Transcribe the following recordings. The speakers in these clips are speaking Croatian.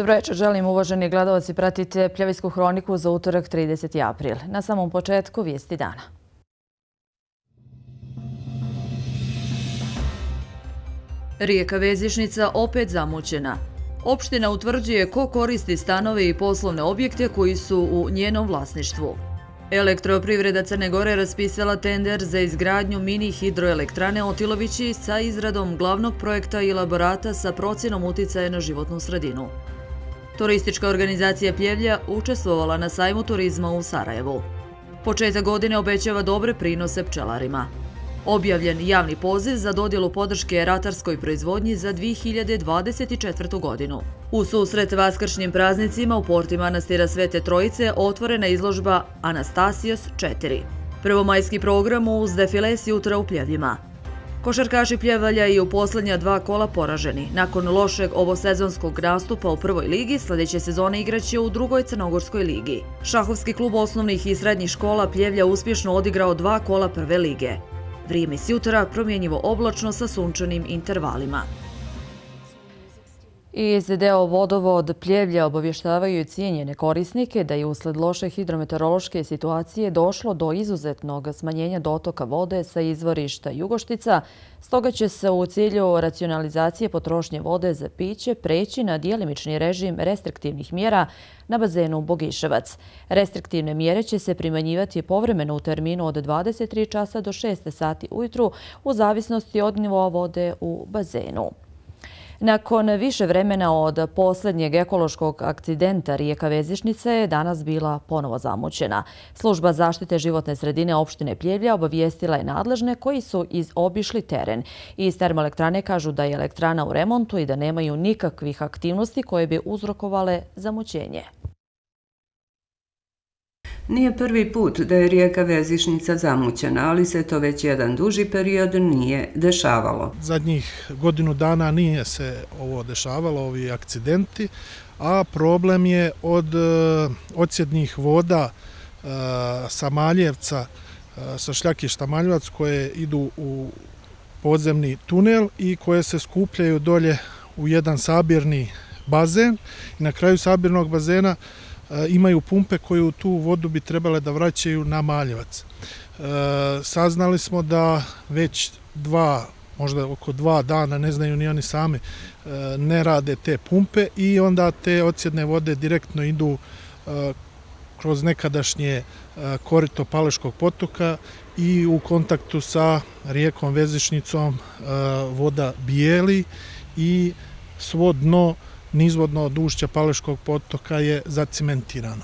Dobro večer, želim uvaženi gledalci, pratite Pljevljsku hroniku za utorak 30. april. Na samom početku vijesti dana. Rijeka Vezišnica opet zamućena. Opština utvrđuje ko koristi stanove i poslovne objekte koji su u njenom vlasništvu. Elektroprivreda Crne Gore raspisala tender za izgradnju mini hidroelektrane Otilovići sa izradom glavnog projekta i elaborata sa procjenom uticaja na životnu sredinu. Turistička organizacija Pljevlja učestvovala na sajmu turizma u Sarajevu. Početak godine obećava dobre prinose pčelarima. Objavljen javni poziv za dodjelu podrške ratarskoj proizvodnji za 2024. godinu. U susret vaskršnjim praznicima u porti manastira Svete Trojice otvorena izložba Anastasijos 4. Prvomajski program uz defile s jutra u Pljevljima. Košarkaši Pljevalja i u posljednja 2 kola poraženi. Nakon lošeg ovosezonskog nastupa u prvoj ligi, sljedeće sezone igraće u drugoj Crnogorskoj ligi. Šahovski klub osnovnih i srednjih škola Pljevlja uspješno odigrao 2 kola prve lige. Vrijeme s jutra promjenjivo oblačno sa sunčanim intervalima. Iz deo vodovod Pljevlja obavještavaju cijenjene korisnike da je usled loše hidrometeorološke situacije došlo do izuzetnog smanjenja dotoka vode sa izvorišta Jugoštica, stoga će se u cilju racionalizacije potrošnje vode za piće preći na djelimični režim restriktivnih mjera na bazenu Bogiševac. Restriktivne mjere će se primanjivati povremeno u terminu od 23 časa do 6 sati ujutru u zavisnosti od nivoa vode u bazenu. Nakon više vremena od posljednjeg ekološkog akcidenta rijeka Vezišnica je danas bila ponovo zamućena. Služba zaštite životne sredine opštine Pljevlja obavijestila je nadležne koji su obišli teren. Iz termoelektrane kažu da je elektrana u remontu i da nemaju nikakvih aktivnosti koje bi uzrokovale zamućenje. Nije prvi put da je rijeka Vezišnica zamućena, ali se to već jedan duži period nije dešavalo. Zadnjih godinu dana nije se ovo dešavalo, ovi akcidenti, a problem je od odsjednih voda sa Maljevca, sa šljakišta Maljevac koje idu u podzemni tunel i koje se skupljaju dolje u jedan sabirni bazen. I na kraju sabirnog bazena imaju pumpe koje u tu vodu bi trebale da vraćaju na Maljevac. Saznali smo da već možda oko 2 dana, ne znaju ni oni sami, ne rade te pumpe i onda te odsjedne vode direktno idu kroz nekadašnje korito Paleškog potoka i u kontaktu sa rijekom Vezišnicom voda bijeli i svo dno nizvodno od ušća Paleškog potoka je zacimentirano.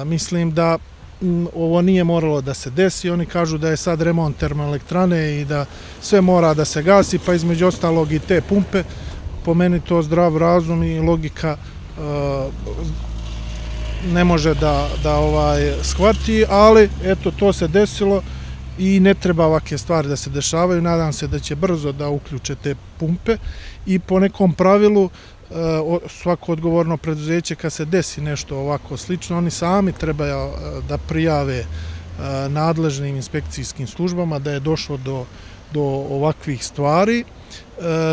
Mislim da ovo nije moralo da se desi. Oni kažu da je sad remont termoelektrane i da sve mora da se gasi, pa između ostalog i te pumpe. Po meni to zdrav razum i logika ne može da shvati, ali eto to se desilo i ne treba ovakve stvari da se dešavaju. Nadam se da će brzo da uključe te pumpe i po nekom pravilu svako odgovorno preduzeće kad se desi nešto ovako slično, oni sami trebaju da prijave nadležnim inspekcijskim službama da je došlo do ovakvih stvari.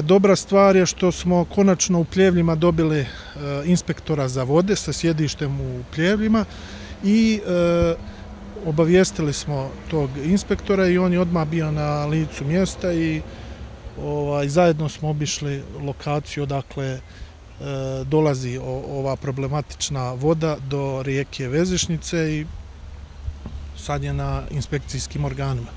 Dobra stvar je što smo konačno u Pljevljima dobili inspektora za vode sa sjedištem u Pljevljima i obavijestili smo tog inspektora i on je odmah bio na licu mjesta i zajedno smo obišli lokaciju odakle dolazi ova problematična voda do rijeke Vezišnice i sad je na inspekcijskim organima.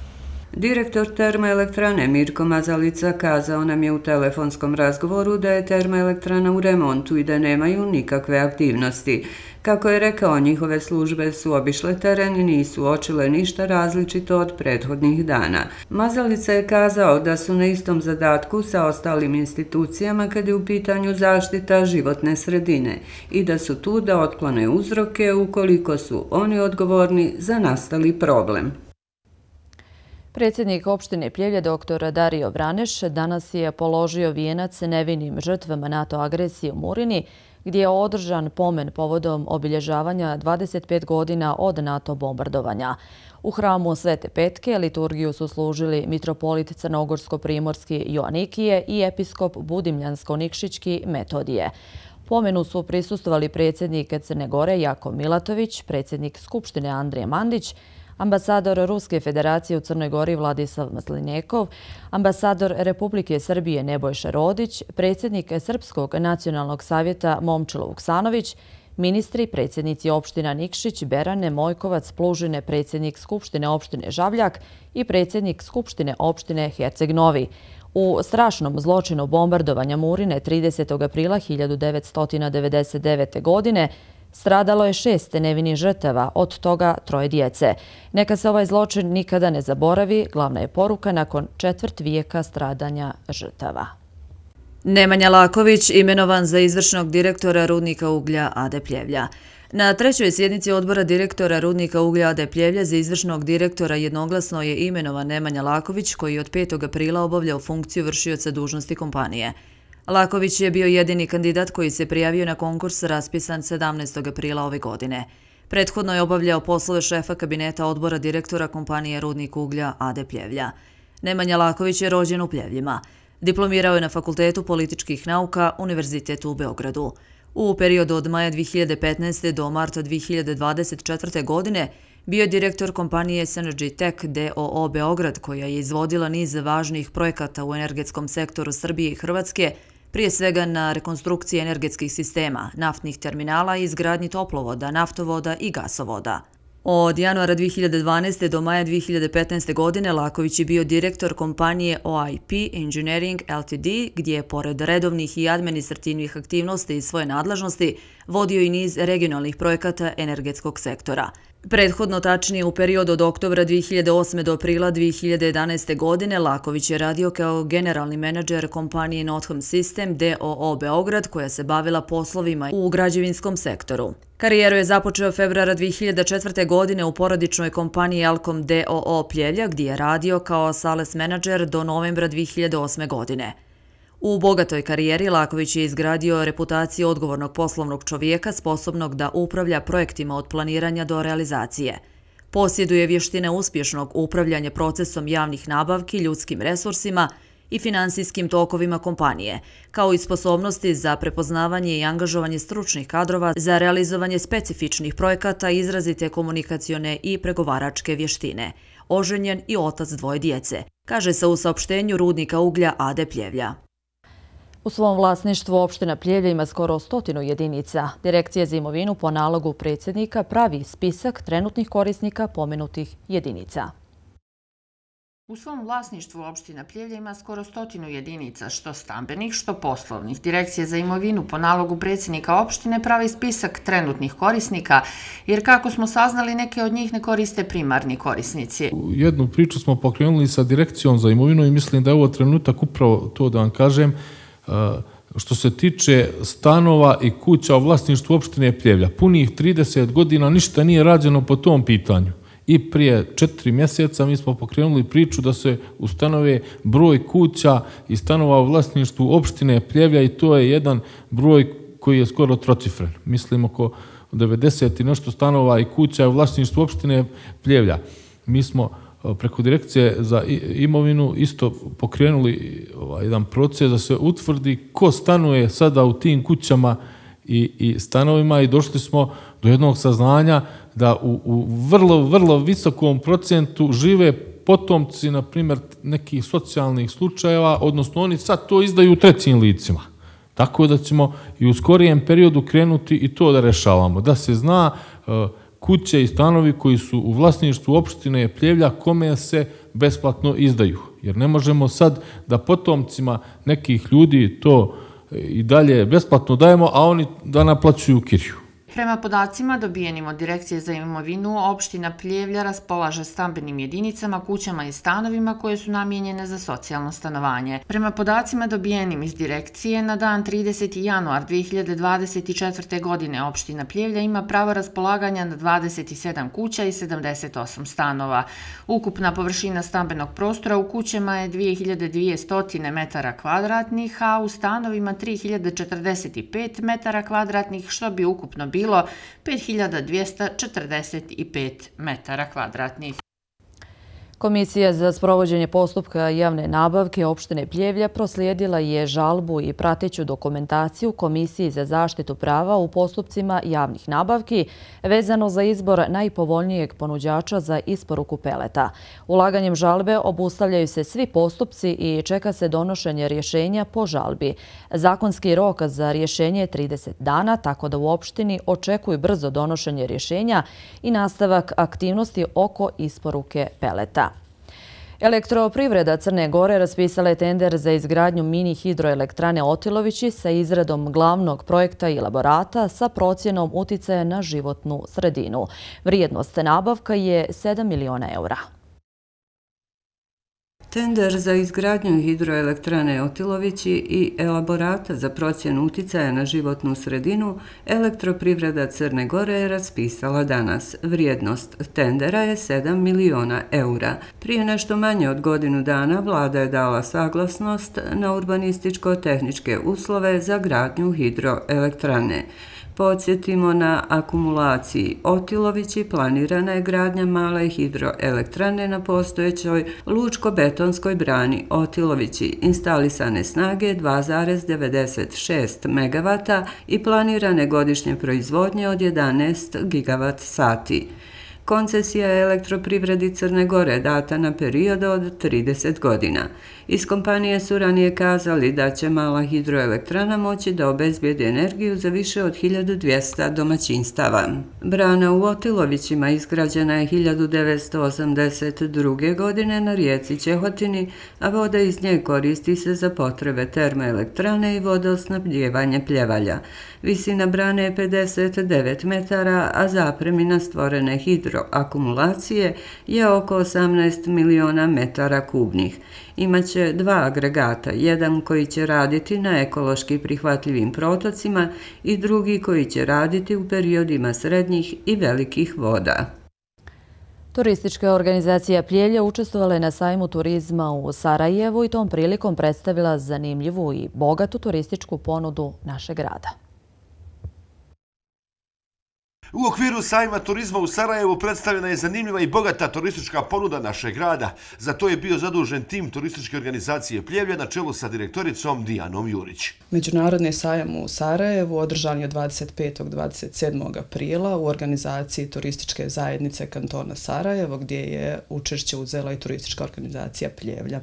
Direktor termoelektrane Mirko Mazalica kazao nam je u telefonskom razgovoru da je termoelektrana u remontu i da nemaju nikakve aktivnosti. Kako je rekao, njihove službe su obišle teren i nisu uočile ništa različito od prethodnih dana. Mazalica je kazao da su na istom zadatku sa ostalim institucijama kad je u pitanju zaštita životne sredine i da su tu da otklone uzroke ukoliko su oni odgovorni za nastali problem. Predsjednik opštine Pljevlja dr. Dario Vraneš danas je položio vijenac nevinim žrtvama NATO agresije u Murini, gdje je održan pomen povodom obilježavanja 25 godina od NATO bombardovanja. U hramu Svete Petke liturgiju su služili mitropolit Crnogorsko-primorski Joanikije i episkop Budimljansko-Nikšićki Metodije. Pomenu su prisustvovali predsjednik Crne Gore Jakov Milatović, predsjednik Skupštine Andrija Mandić, ambasador Ruske federacije u Crnoj Gori Vladislav Maslinjekov, ambasador Republike Srbije Nebojša Rodić, predsjednik Srpskog nacionalnog savjeta Momčilo Vuksanović, ministri, predsjednici opština Nikšić, Berane, Mojkovac, Plužine, predsjednik Skupštine opštine Žabljak i predsjednik Skupštine opštine Herceg Novi. U strašnom zločinu bombardovanja Murine 30. aprila 1999. godine stradalo je 6 nevinih žrtava, od toga 3 djece. Neka se ovaj zločin nikada ne zaboravi, glavna je poruka nakon 1/4 vijeka stradanja žrtava. Nemanja Laković imenovan za izvršnog direktora Rudnika uglja AD Pljevlja. Na 3. sjednici odbora direktora Rudnika uglja AD Pljevlja za izvršnog direktora jednoglasno je imenovan Nemanja Laković, koji je od 5. aprila obavljao funkciju vršioca dužnosti kompanije. Laković je bio jedini kandidat koji se prijavio na konkurs raspisan 17. aprila ove godine. Prethodno je obavljao poslove šefa kabineta odbora direktora kompanije Rudnik uglja AD Pljevlja. Nemanja Laković je rođen u Pljevljima. Diplomirao je na Fakultetu političkih nauka Univerzitetu u Beogradu. U periodu od maja 2015. do marta 2024. godine bio je direktor kompanije Synergy Tech d.o.o. Beograd, koja je izvodila niz važnih projekata u energetskom sektoru Srbije i Hrvatske, prije svega na rekonstrukciji energetskih sistema, naftnih terminala i izgradnji toplovoda, naftovoda i gasovoda. Od januara 2012. do maja 2015. godine Laković je bio direktor kompanije OIP Engineering Ltd, gdje je pored redovnih i administrativnih aktivnosti iz svoje nadležnosti vodio i niz regionalnih projekata energetskog sektora. Prethodno, tačnije u periodu od oktobra 2008. do aprila 2011. godine, Laković je radio kao generalni menadžer kompanije Notham System d.o.o. Beograd, koja se bavila poslovima u građevinskom sektoru. Karijeru je započeo februara 2004. godine u porodičnoj kompaniji Alcom d.o.o. Pljevlja, gdje je radio kao sales menadžer do novembra 2008. godine. U bogatoj karijeri Laković je izgradio reputaciju odgovornog poslovnog čovjeka sposobnog da upravlja projektima od planiranja do realizacije. Posjeduje vještine uspješnog upravljanja procesom javnih nabavki, ljudskim resursima i finansijskim tokovima kompanije, kao i sposobnosti za prepoznavanje i angažovanje stručnih kadrova za realizovanje specifičnih projekata, izrazite komunikacione i pregovaračke vještine. Oženjen i otac 2 djece, kaže se u saopštenju Rudnika uglja AD Pljevlja. U svom vlasništvu opština Pljevlja ima skoro 100 jedinica. Direkcija za imovinu po nalogu predsjednika pravi spisak trenutnih korisnika pomenutih jedinica. U svom vlasništvu opština Pljevlja ima skoro 100 jedinica, što stambenih, što poslovnih. Direkcija za imovinu po nalogu predsjednika opštine pravi spisak trenutnih korisnika, jer kako smo saznali, neke od njih ne koriste primarni korisnici. Jednu priču smo pokrenuli sa Direkcijom za imovinu i mislim da je ovo trenutak upravo to da vam kažem. Što se tiče stanova i kuća u vlasništvu opštine Pljevlja, punih 30 godina ništa nije rađeno po tom pitanju. I prije 4 mjeseca mi smo pokrenuli priču da se ustanove broj kuća i stanova u vlasništvu opštine Pljevlja i to je jedan broj koji je skoro trocifren. Mislim oko 90 i nešto stanova i kuća u vlasništvu opštine Pljevlja. Mi smo preko Direkcije za imovinu isto pokrenuli jedan proces da se utvrdi ko stanuje sada u tim kućama i stanovima i došli smo do jednog saznanja da u vrlo visokom procentu žive potomci, na primjer, nekih socijalnih slučajeva, odnosno oni sad to izdaju trećim licima. Tako da ćemo i u skorijem periodu krenuti i to da rešavamo, da se zna kuće i stanovi koji su u vlasništvu opštine Pljevlja kome se besplatno izdaju. Jer ne možemo sad da potomcima nekih ljudi to i dalje besplatno dajemo, a oni da naplaćuju kiriju. Prema podacima dobijenim od Direkcije za imovinu, opština Pljevlja raspolaže stambenim jedinicama, kućama i stanovima koje su namijenjene za socijalno stanovanje. Prema podacima dobijenim iz Direkcije, na dan 30. januar 2024. godine opština Pljevlja ima pravo raspolaganja na 27 kuća i 78 stanova. Ukupna površina stambenog prostora u kućama je 2200 metara kvadratnih, a u stanovima 3045 metara kvadratnih, što bi ukupno bilo 5245 metara kvadratnih. Komisija za sprovođenje postupka javne nabavke opštine Pljevlja proslijedila je žalbu i prateću dokumentaciju Komisiji za zaštitu prava u postupcima javnih nabavki vezano za izbor najpovoljnijeg ponuđača za isporuku peleta. Ulaganjem žalbe obustavljaju se svi postupci i čeka se donošenje rješenja po žalbi. Zakonski rok za rješenje je 30 dana, tako da u opštini očekuju brzo donošenje rješenja i nastavak aktivnosti oko isporuke peleta. Elektroprivreda Crne Gore raspisala je tender za izgradnju mini hidroelektrane Otilovići sa izradom glavnog projekta i elaborata sa procjenom uticaja na životnu sredinu. Vrijednost nabavka je 7 miliona eura. Tender za izgradnju hidroelektrane Otilovići i elaborata za procjenu uticaja na životnu sredinu Elektroprivreda Crne Gore je raspisala danas. Vrijednost tendera je 7 miliona eura. Prije nešto manje od godinu dana vlada je dala saglasnost na urbanističko-tehničke uslove za gradnju hidroelektrane. Podsjetimo, na akumulaciji Otilovići planirana je gradnja male hidroelektrane na postojećoj lučko-betonskoj brani Otilovići, instalisane snage 2,96 MW i planirane godišnje proizvodnje od 11 GWh. Koncesija je Elektroprivredi Crne Gore data na period od 30 godina. Iz kompanije su ranije kazali da će mala hidroelektrana moći da obezbijedi energiju za više od 1200 domaćinstava. Brana u Otilovićima izgrađena je 1982. godine na rijeci Ćehotini, a voda iz nje koristi se za potrebe termoelektrane i vodosnabdijevanje Pljevalja. Visina brane je 59 metara, a zapremina stvorene hidroakumulacije je oko 18 miliona metara kubnih. Imaće dva agregata, jedan koji će raditi na ekološki prihvatljivim protocima i drugi koji će raditi u periodima srednjih i velikih voda. Turistička organizacija Pljevlja učestvovala je na sajmu turizma u Sarajevu i tom prilikom predstavila zanimljivu i bogatu turističku ponudu našeg grada. U okviru sajma turizma u Sarajevu predstavljena je zanimljiva i bogata turistička ponuda našeg grada. Za to je bio zadužen tim turističke organizacije Pljevlja na čelu sa direktoricom Dijanom Jurić. Međunarodni sajam u Sarajevu održan je 25. 27. aprila u organizaciji turističke zajednice kantona Sarajevo, gdje je učešće uzela i turistička organizacija Pljevlja.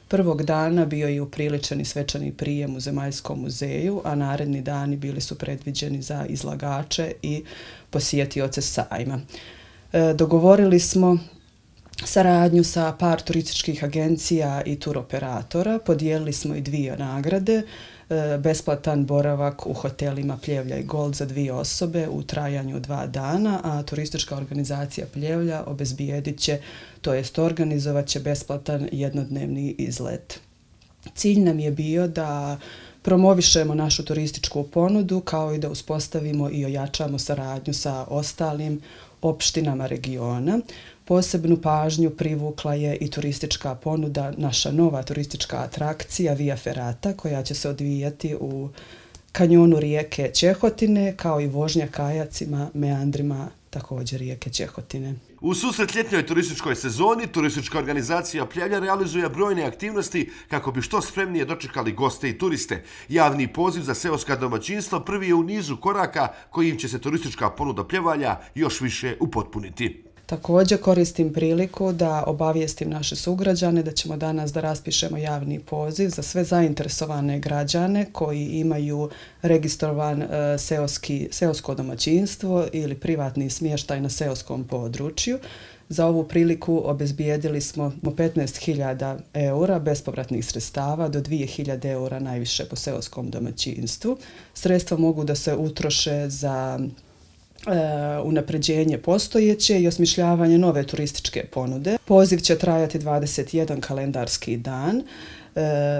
Prvog dana bio je upriličen i svečani prijem u Zemaljskom muzeju, a naredni dani bili su predviđeni za izlagače i posjetioce sajma. Dogovorili smo saradnju sa par turističkih agencija i turoperatora, podijelili smo i dvije nagrade, besplatan boravak u hotelima Pljevlja i Gold za 2 osobe u trajanju 2 dana, a turistička organizacija Pljevlja obezbijedit će, to jest organizovat će besplatan jednodnevni izlet. Cilj nam je bio da promovišemo našu turističku ponudu kao i da uspostavimo i ojačamo saradnju sa ostalim opštinama regiona. Posebnu pažnju privukla je i turistička ponuda, naša nova turistička atrakcija Via Ferrata, koja će se odvijati u kanjonu rijeke Ćehotine, kao i vožnja kajacima, meandrima također rijeke Ćehotine. U susret ljetnjoj turističkoj sezoni, turistička organizacija Pljevlja realizuje brojne aktivnosti kako bi što spremnije dočekali goste i turiste. Javni poziv za seoska domaćinstva prvi je u nizu koraka kojim će se turistička ponuda Pljevalja još više upotpuniti. Također koristim priliku da obavijestim naše sugrađane da ćemo danas da raspišemo javni poziv za sve zainteresovane građane koji imaju registrovan seosko domaćinstvo ili privatni smještaj na seoskom području. Za ovu priliku obezbijedili smo 15.000 eura bespovratnih sredstava do 2.000 eura najviše po seoskom domaćinstvu. Sredstva mogu da se utroše za unapređenje postojeće i osmišljavanje nove turističke ponude. Poziv će trajati 21 kalendarski dan.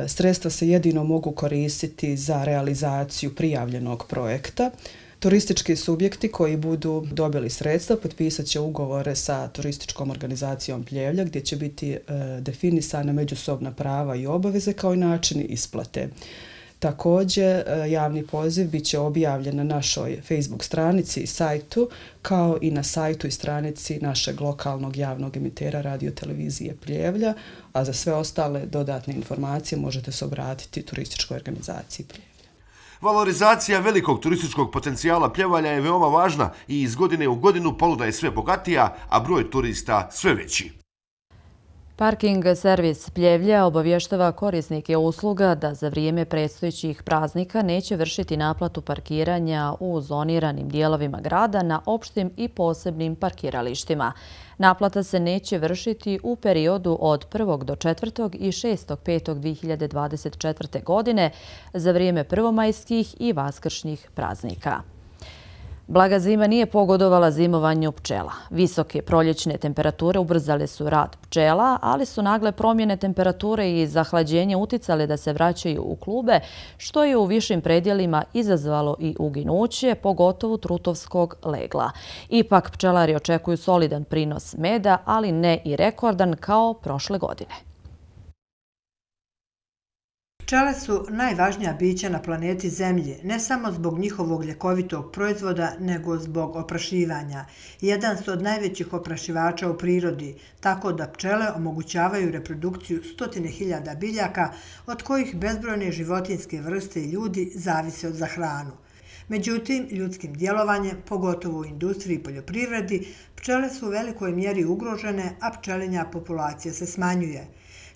Sredstva se jedino mogu koristiti za realizaciju prijavljenog projekta. Turistički subjekti koji budu dobili sredstva potpisat će ugovore sa turističkom organizacijom Pljevlja gdje će biti definisana međusobna prava i obaveze kao i načini isplate. Također, javni poziv bit će objavljen na našoj Facebook stranici i sajtu, kao i na sajtu i stranici našeg lokalnog javnog emitera radiotelevizije Pljevlja, a za sve ostale dodatne informacije možete se obratiti turističkoj organizaciji Pljevlja. Valorizacija velikog turističkog potencijala Pljevalja je veoma važna i iz godine u godinu ponuda je sve bogatija, a broj turista sve veći. Parking servis Pljevlja obavještava korisnike usluga da za vrijeme predstojećih praznika neće vršiti naplatu parkiranja u zoniranim dijelovima grada na opštim i posebnim parkiralištima. Naplata se neće vršiti u periodu od 1. do 4. i 6.5.2024. godine za vrijeme prvomajskih i vaskršnjih praznika. Blaga zima nije pogodovala zimovanju pčela. Visoke proljećne temperature ubrzale su rad pčela, ali su nagle promjene temperature i zahlađenje uticale da se vraćaju u klube, što je u višim predjelima izazvalo i uginuće, pogotovo trutovskog legla. Ipak pčelari očekuju solidan prinos meda, ali ne i rekordan kao prošle godine. Pčele su najvažnija bića na planeti Zemlje, ne samo zbog njihovog ljekovitog proizvoda, nego zbog oprašivanja. Jedan su od najvećih oprašivača u prirodi, tako da pčele omogućavaju reprodukciju 100.000 biljaka, od kojih bezbrojne životinjske vrste i ljudi zavise za hranu. Međutim, ljudskim djelovanjem, pogotovo u industriji i poljoprivredi, pčele su u velikoj mjeri ugrožene, a pčelinja populacija se smanjuje.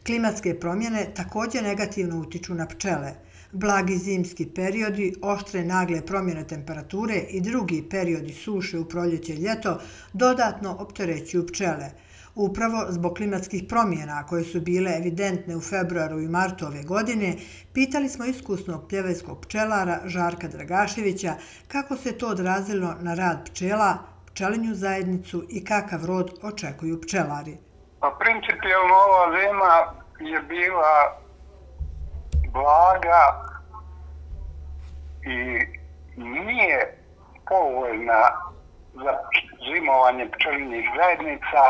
Klimatske promjene također negativno utiču na pčele. Blagi zimski periodi, oštre nagle promjene temperature i drugi periodi suše u proljeće i ljeto dodatno opterećuju pčele. Upravo zbog klimatskih promjena koje su bile evidentne u februaru i martu ove godine, pitali smo iskusnog pljevajskog pčelara Žarka Dragaševića kako se to odrazilo na rad pčela, pčelinju zajednicu i kakav rod očekuju pčelari. Pa principijalno ova zima je bila blaga i nije povoljna za zimovanje pčelinjih zajednica,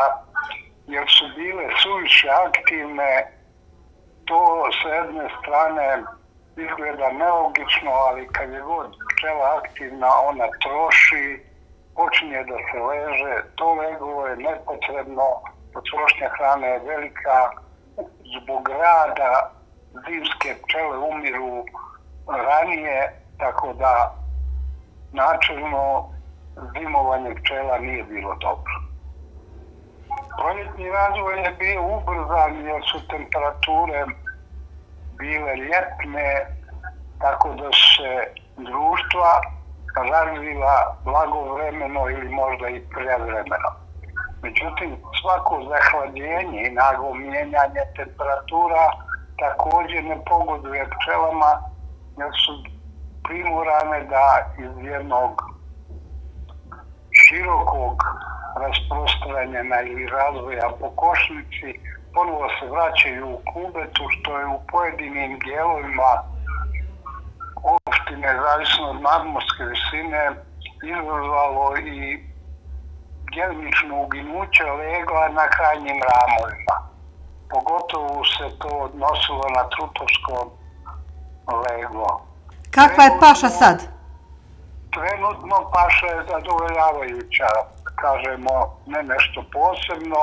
jer su bile suviše aktivne. To s jedne strane izgleda nelogično, ali kad je god pčela aktivna, ona troši, počinje da se leže, to leglo je nepotrebno. Potrošnja hrane je velika, zbog rada zimske pčele umiru ranije, tako da načelno zimovanje pčela nije bilo dobro. Proljetni razvoj je bio ubrzan jer su temperature bile ljetne, tako da su se društva razvila blagovremeno ili možda i prevremeno. Međutim, svako zahlađenje i naglo mijenjanje temperatura također ne pogoduje pčelama, jer su primorane da iz jednog širokog rasprostranjena ili razvoja po košnici ponovo se vraćaju u kubetu, što je u pojedinim dijelovima opštine, zavisno od nadmorske visine, izazvalo i djelimično uginuće legla na krajnjim ramovima. Pogotovo se to odnosilo na trutovsko leglo. Kakva je paša sad? Trenutno paša je zadovoljavajuća, kažemo, ne nešto posebno.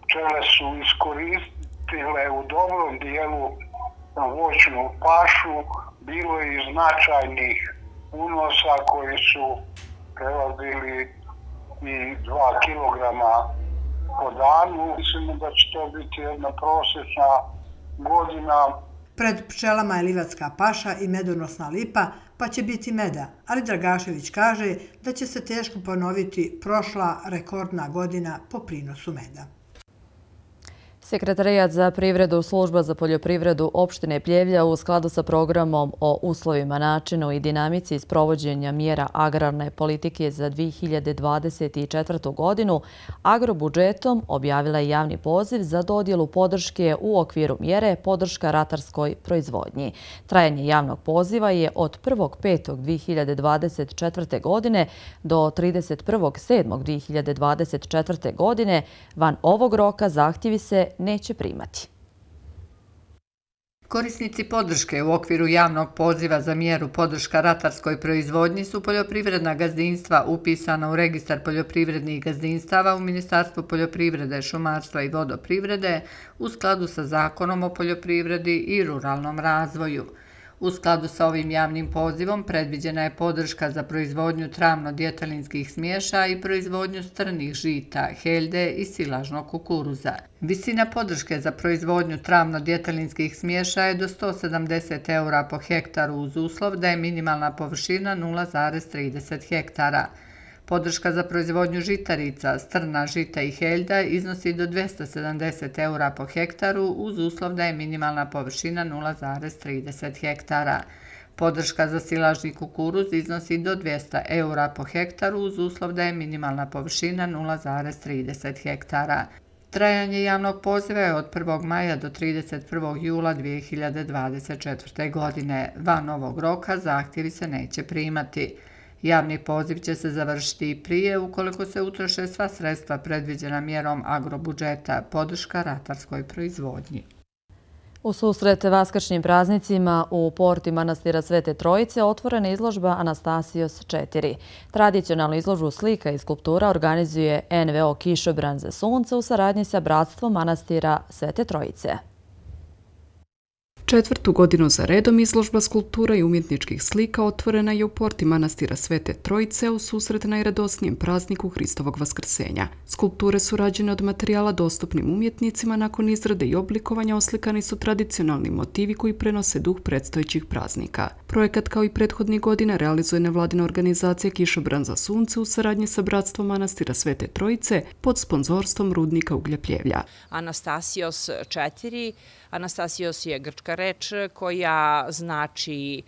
Pčele su iskoristile u dobrom dijelu voćnu pašu, bilo je i značajnih unosa koji su prelazili i 2 kilograma po danu. Mislimo da će to biti jedna prosječna godina. Pred pčelama je livatska paša i medonosna lipa, pa će biti meda, ali Dragašević kaže da će se teško ponoviti prošla rekordna godina po prinosu meda. Sekretarijat za privredu Služba za poljoprivredu opštine Pljevlja u skladu sa programom o uslovima, načinu i dinamici sprovođenja mjera agrarne politike za 2024. godinu agrobudžetom objavila je javni poziv za dodjelu podrške u okviru mjere podrška ratarskoj proizvodnji. Trajanje javnog poziva je od 1.5.2024. godine do 31.7.2024. godine. Van ovog roka zahtjevi se neće primati. Korisnici podrške u okviru javnog poziva za mjeru podrška ratarskoj proizvodnji su poljoprivredna gazdinstva upisana u registar poljoprivrednih gazdinstava u Ministarstvu poljoprivrede, šumarstva i vodoprivrede u skladu sa Zakonom o poljoprivredi i ruralnom razvoju. U skladu sa ovim javnim pozivom predviđena je podrška za proizvodnju travno-djetelinskih smiješa i proizvodnju strnih žita, heljde i silažnog kukuruza. Visina podrške za proizvodnju travno-djetelinskih smiješa je do 170 € po hektaru uz uslov da je minimalna površina 0,30 hektara. Podrška za proizvodnju žitarica, strna žita i heljda iznosi do 270 € po hektaru uz uslov da je minimalna površina 0,30 hektara. Podrška za silažni kukuruz iznosi do 200 € po hektaru uz uslov da je minimalna površina 0,30 hektara. Trajanje javnog poziva je od 1. maja do 31. jula 2024. godine. Van ovog roka zahtjevi se neće primati. Javni poziv će se završiti i prije ukoliko se utroše sva sredstva predviđena mjerom agrobudžeta, podrška ratarskoj proizvodnji. U susret vaskršnjim praznicima u porti manastira Svete Trojice otvorena izložba Anastasios 4. Tradicionalnu izložbu slika i skulptura organizuje NVO Kišobran za sunce u saradnji sa Bratstvom manastira Svete Trojice. 4. godinu za redom izložba skulptura i umjetničkih slika otvorena je u porti manastira Svete Trojice u susret najradosnijem prazniku Hristovog vaskrsenja. Skulpture su rađene od materijala dostupnim umjetnicima, nakon izrade i oblikovanja oslikani su tradicionalni motivi koji prenose duh predstojećih praznika. Projekat kao i prethodnih godina realizuje nevladina organizacija Kišobran za sunce u saradnji sa Bratstvom manastira Svete Trojice pod sponzorstvom rudnika uglja Pljevlja. Anastasios 4. Anastasios je grčka reč koja znači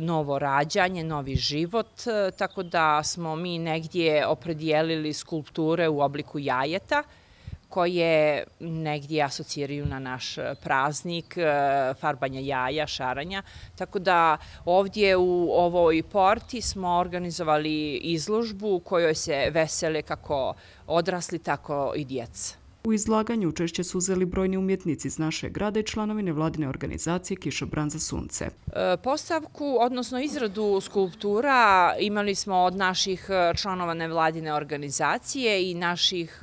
novo rađanje, novi život, tako da smo mi negdje opredijelili skulpture u obliku jajeta koje negdje asociraju na naš praznik, farbanja jaja, šaranja. Tako da ovdje u ovoj porti smo organizovali izložbu u kojoj se vesele kako odrasli, tako i djeca. U izlaganju učešće su uzeli brojni umjetnici iz našeg grada i članovi nevladine organizacije Kišobran za sunce. Postavku, odnosno izradu skulptura, imali smo od naših članova nevladine organizacije i naših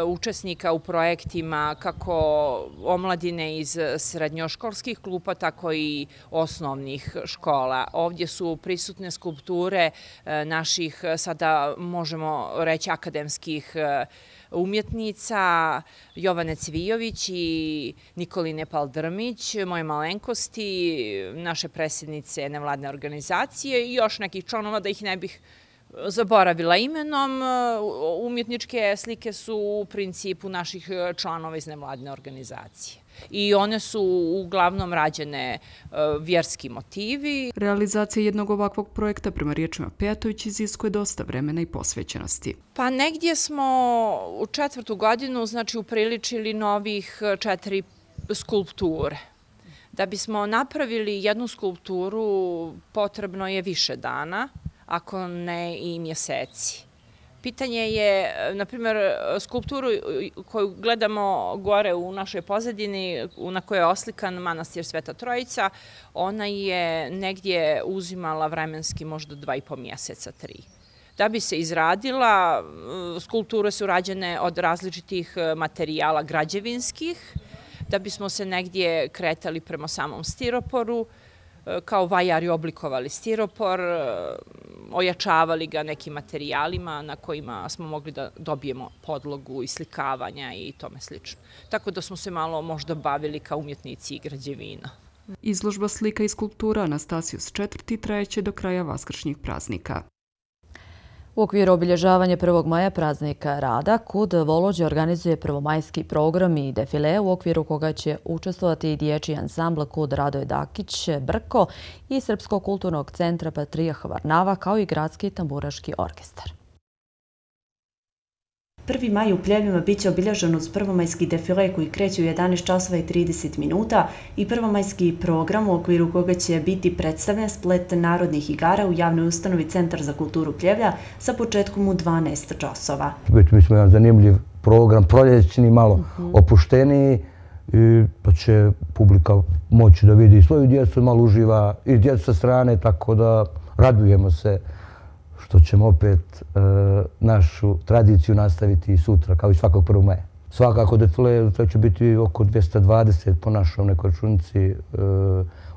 učesnika u projektima kako omladine iz srednjoškolskih klupa, tako i osnovnih škola. Ovdje su prisutne skulpture naših, sada možemo reći, akademskih umjetnica Jovane Cvijović i Nikoline Paldrmić, moje malenkosti, naše predsjednice nevladne organizacije i još nekih članova, da ih ne bih zaboravila imenom. Umjetničke slike su u principu naših članova iz nevladne organizacije. I one su uglavnom rađene vjerski motivi. Realizacija jednog ovakvog projekta, prema riječima Pejatović, iziskuje dosta vremena i posvećenosti. Pa negdje smo u 4. godinu, znači, upriličili novih 4 skulpture. Da bismo napravili jednu skulpturu potrebno je više dana, ako ne i mjeseci. Pitanje je, na primjer, skulpturu koju gledamo gore u našoj pozadini, na kojoj je oslikan manastir Sveta Trojica, ona je negdje uzimala vremenski možda 2,5 mjeseca, 3. Da bi se izradila, skulpture su rađene od različitih materijala građevinskih, da bismo se negdje kretali prema samom stiroporu, kao vajari oblikovali stiropor, ojačavali ga nekim materijalima na kojima smo mogli da dobijemo podlogu i slikavanja i tome slično. Tako da smo se malo možda bavili kao umjetnici i građevina. Izložba slika i skulptura Anastasios 4. trajeće do kraja vaskršnjih praznika. U okviru obilježavanja 1. maja praznika rada, KUD Volođe organizuje prvomajski program i defile u okviru koga će učestvovati i dječji ansambl KUD Radoje Dakić Brko i Srpskog kulturnog centra Patrijah Varnava, kao i gradski tamburaški orkestar. 1. maj u Pljevljima biće obilježen uz prvomajski defile koji kreće u 11 časova i 30 minuta i prvomajski program u okviru koga će biti predstavljen splet narodnih igara u javnoj ustanovi Centar za kulturu Pljevlja sa početkom u 12 časova. Mi smo jedan zanimljiv program, proljećni, malo opušteniji, i da će publika moći da vidi svoju djecu, malo uživa i djecu sa strane, tako da radujemo se što ćemo opet našu tradiciju nastaviti i sutra, kao i svakog 1. maja. Svakako defile će biti oko 220 po našoj nekoj računici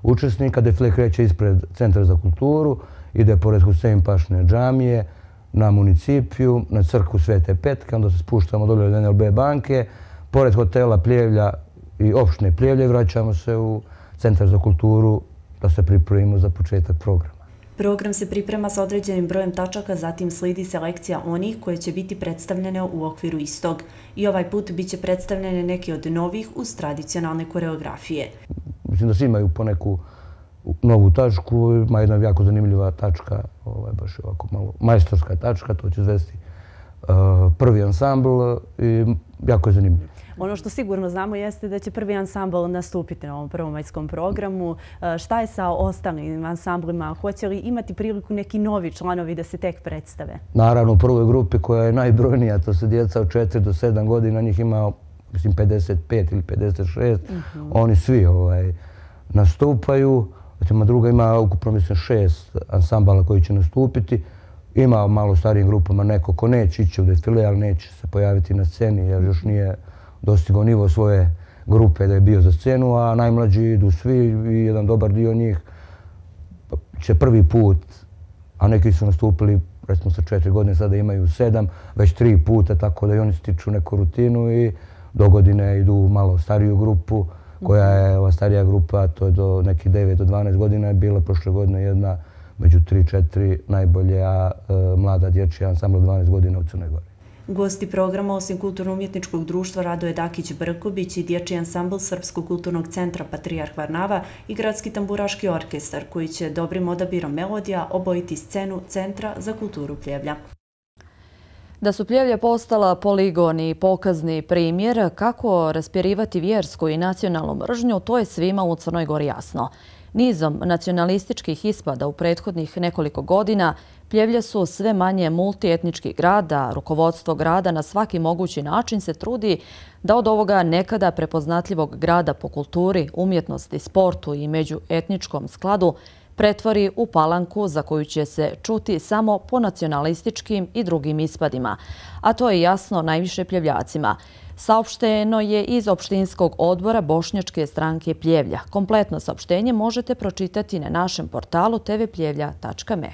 učesnika. Defile kreće ispred Centra za kulturu, ide pored Husein Pašine džamije, na municipiju, na crkvu Svete Petke, onda se spuštamo dolje od NLB banke, pored hotela Pljevlja i opštine Pljevlja i vraćamo se u Centar za kulturu da se pripremimo za početak programa. Program se priprema sa određenim brojem tačaka, zatim slijedi selekcija onih koje će biti predstavljene u okviru istog. I ovaj put bit će predstavljene neke od novih uz tradicionalne koreografije. Mislim da svi imaju po neku novu tačku, ima jedna jako zanimljiva tačka, baš ovako malo majstorska tačka, to će zvesti prvi ansambl i jako je zanimljivo. Ono što sigurno znamo jeste da će prvi ansambl nastupiti na ovom prvomajskom programu. Šta je sa ostalim ansamblima? Hoće li imati priliku neki novi članovi da se tek predstave? Naravno, u prvoj grupi koja je najbrojnija, to su djeca od 4 do 7 godina, njih ima, mislim, 55 ili 56. Oni svi nastupaju. Druga ima ukupno, mislim, 6 ansambala koji će nastupiti. Ima malo starijim grupama neko ko neće ići u defile, ali neće se pojaviti na sceni jer još nije dostigao nivo svoje grupe da je bio za scenu, a najmlađi idu svi i jedan dobar dio njih će prvi put, a neki su nastupili recimo sa 4 godine, sada imaju 7, već 3 puta, tako da i oni stiču neku rutinu i do godine idu u malo stariju grupu, koja je ova starija grupa, to je do nekih 9 do 12 godina, je bila prošle godine jedna među 3-4 najbolja mlada dječja ansambla 12 godina u Crnoj Gori. Gosti programa, osim Kulturno-umjetničkog društva Radoje Dakić-Brković i dječji ansambl Srpskog kulturnog centra Patrijarh Varnava i Gradski tamburaški orkestar, koji će dobrim odabirom melodija obojiti scenu Centra za kulturu Pljevlja. Da su Pljevlja postala poligon i pokazni primjer kako raspirivati vjersku i nacionalnu mržnju, to je svima u Crnoj Gori jasno. Nizom nacionalističkih ispada u prethodnih nekoliko godina Pljevlja su sve manje multietnički grad, a rukovodstvo grada na svaki mogući način se trudi da od ovoga nekada prepoznatljivog grada po kulturi, umjetnosti, sportu i međuetničkom skladu pretvori u palanku za koju će se čuti samo po nacionalističkim i drugim ispadima. A to je jasno najviše Pljevljacima. Saopšteno je iz opštinskog odbora Bošnjačke stranke Pljevlja. Kompletno saopštenje možete pročitati na našem portalu tvpljevlja.me.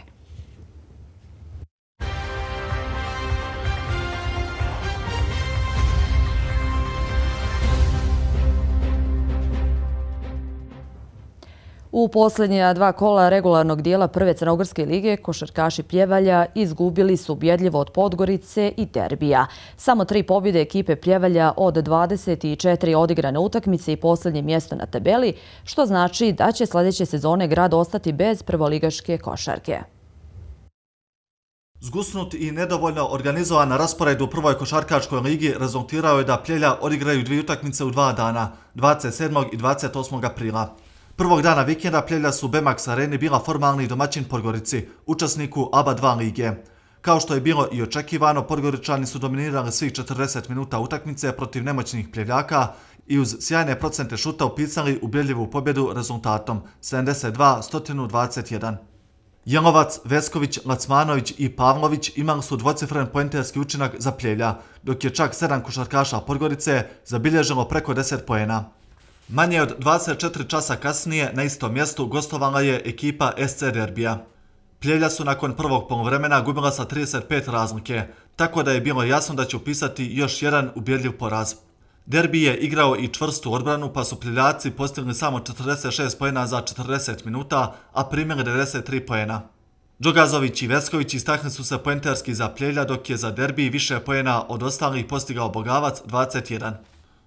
U posljednja 2 kola regularnog dijela prve Crnogorske lige košarkaši Pljevalja izgubili su ubjedljivo od Podgorice i Derbija. Samo 3 pobjede ekipe Pljevalja od 24 odigrane utakmice i posljednje mjesto na tabeli, što znači da će sljedeće sezone grad ostati bez prvoligaške košarke. Zgusnut i nedovoljno organizovan raspored u prvoj košarkaškoj ligi rezultirao je da Pljevlja odigraju 2 utakmice u 2 dana, 27. i 28. aprila. Prvog dana vikenda Pljevlja su u Bemax areni bila formalni domaćin Podgorici, učesniku ABA 2 lige. Kao što je bilo i očekivano, Podgoričani su dominirali svih 40 minuta utakmice protiv nemoćnih Pljevljaka i uz sjajne procente šuta upisali ubjedljivu pobjedu rezultatom 72-121. Jelovac, Vesković, Lacmanović i Pavlović imali su dvocifren poenterski učinak za Pljevlja, dok je čak 7 košarkaša Podgorice zabilježilo preko 10 poena. Manje od 24 časa kasnije na istom mjestu gostovala je ekipa SC Derbija. Pljevlja su nakon prvog poluvremena gubila sa 35 razlike, tako da je bilo jasno da će upisati još jedan ubjedljiv poraz. Derbi je igrao i čvrstu odbranu, pa su Pljevljaci postigli samo 46 poena za 40 minuta, a primili 93 poena. Džogazović i Vesković istakli su se poenterski za Pljevlja, dok je za Derbi više poena od ostalih postigao Bogavac 21.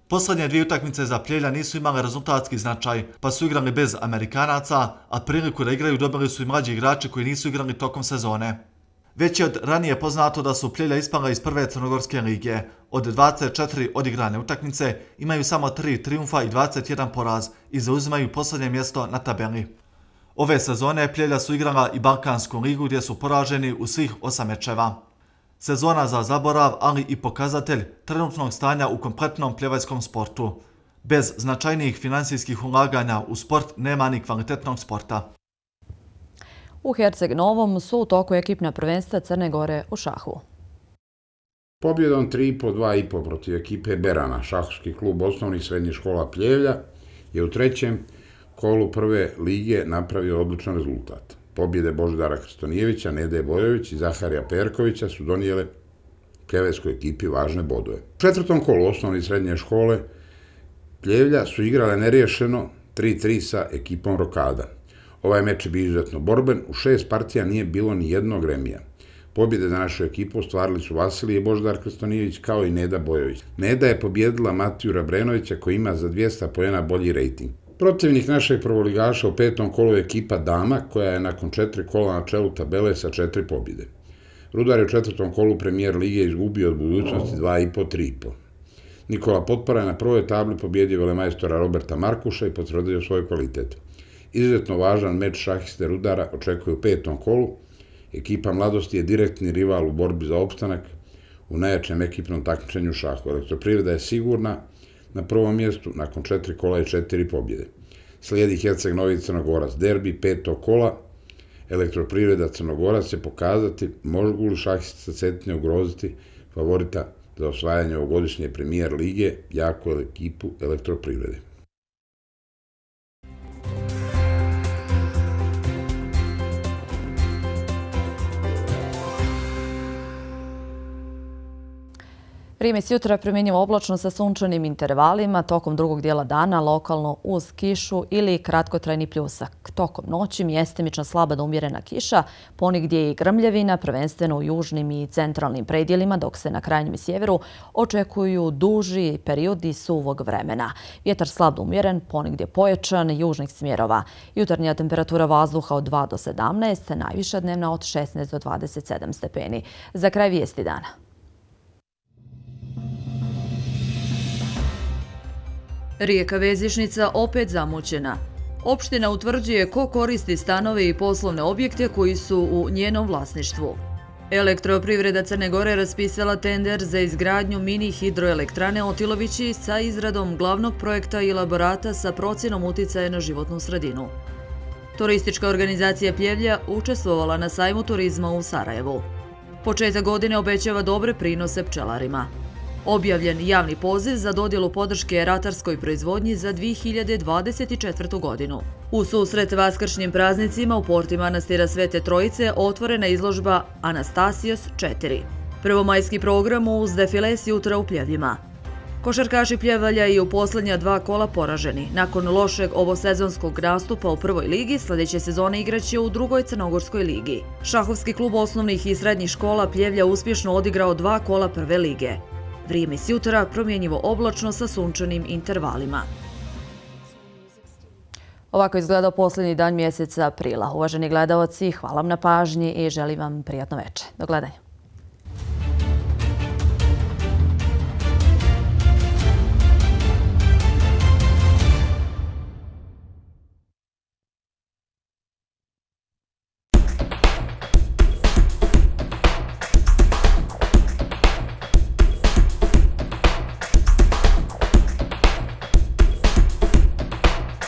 Posljednje 2 utakmice za Pljevlja nisu imale rezultatski značaj, pa su igrali bez Amerikanaca, a priliku da igraju dobili su i mlađi igrači koji nisu igrali tokom sezone. Već je od ranije poznato da su Pljevlja ispala iz prve Crnogorske lige. Od 24 odigrane utakmice imaju samo 3 trijumfa i 21 poraz i zauzimaju posljednje mjesto na tabeli. Ove sezone Pljevlja su igrala i Balkansku ligu gdje su poraženi u svih 8 mečeva. Sezona za zaborav, ali i pokazatelj trenutnog stanja u kompletnom pljevaljskom sportu. Bez značajnijih finansijskih ulaganja u sport nema ni kvalitetnog sporta. U Herceg Novom su u toku ekipna prvenstva Crne Gore u šahu. Pobjedom 3,5-2,5 protiv ekipe Berana, šahovski klub osnovnih srednjih škola Pljevlja je u trećem kolu prve lige napravio odličan rezultat. Pobjede Božidara Krstonijevića, Nede Bojović i Zaharija Perkovića su donijele pljeveskoj ekipi važne bodove. U četvrtom kolu osnovne i srednje škole Pljevlja su igrale neriješeno 3-3 sa ekipom Rokada. Ovaj meč je bio izuzetno borben, u 6 partija nije bilo ni jednog remija. Pobjede za našu ekipu ostvarili su Vasilij i Božidar Krstonijević kao i Neda Bojović. Neda je pobjedila Matiju Rabrenovića koji ima za 200 poena bolji rejting. Protivnik našeg prvoligaša u petom kolu je ekipa Dama koja je nakon 4 kola na čelu tabele sa 4 pobjede. Rudar je u četvrtom kolu premijer lige izgubio od Budućnosti 2,5-3,5. Nikola Potpora je na prvoj tabli pobjedio velemajstora Roberta Markuša i potvrdio svoj kvalitet. Izuzetno važan meč šahiste Rudara očekuje u petom kolu. Ekipa Mladosti je direktni rival u borbi za opstanak u najjačem ekipnom takmičenju šahu. Elektroprivreda je sigurna na prvom mjestu nakon 4 kola i 4 pobjede. Slijedi Herceg Novi Crnogorac, derbi petog kola. Elektroprivreda Crnogorac će pokazati mogu li šahisti Cetinje ugroziti favorita za osvajanje ovogodišnje premijer lige, jaku ekipu Elektroprivrede. Vrijeme s jutra primjenjivo oblačno sa sunčanim intervalima, tokom drugog dijela dana lokalno uz kišu ili kratkotrajni pljusak. Tokom noći mjestimično slaba do umjerena kiša, ponigdje je i grmljavina, prvenstveno u južnim i centralnim predjelima, dok se na krajnjem sjeveru očekuju duži periodi suvog vremena. Vjetar slab do umjeren, ponigdje pojačan, južnih smjerova. Jutarnja temperatura vazduha od 2 do 17, najviša dnevna od 16 do 27 stepeni. Za kraj vijesti dana. Rijeka Vezišnica opet zamućena. Opština utvrđuje ko koristi stanove i poslovne objekte koji su u njenom vlasništvu. Elektroprivreda Crne Gore raspisala tender za izgradnju mini hidroelektrane Otilovići sa izradom glavnog projekta i elaborata sa procjenom uticaja na životnu sredinu. Turistička organizacija Pljevlja učestvovala na sajmu turizma u Sarajevu. Početak godine obećava dobre prinose pčelarima. Objavljen javni poziv za dodjelu podrške ratarskoj proizvodnji za 2024. godinu. U susret vaskršnjim praznicima u porti manastira Svete Trojice otvorena izložba Anastasijos 4. Prvomajski program uz defile s jutra u Pljevljima. Košarkaši Pljevalja i u posljednja 2 kola poraženi. Nakon lošeg ovosezonskog nastupa u prvoj ligi, sljedeće sezone igraće u drugoj Crnogorskoj ligi. Šahovski klub osnovnih i srednjih škola Pljevlja uspješno odigrao 2 kola prve lige. Vrijeme s jutra promjenjivo oblačno sa sunčanim intervalima. Ovako izgleda posljednji dan mjeseca aprila. Uvaženi gledaoci, hvala vam na pažnji i želim vam prijatno večer. Do gledanja.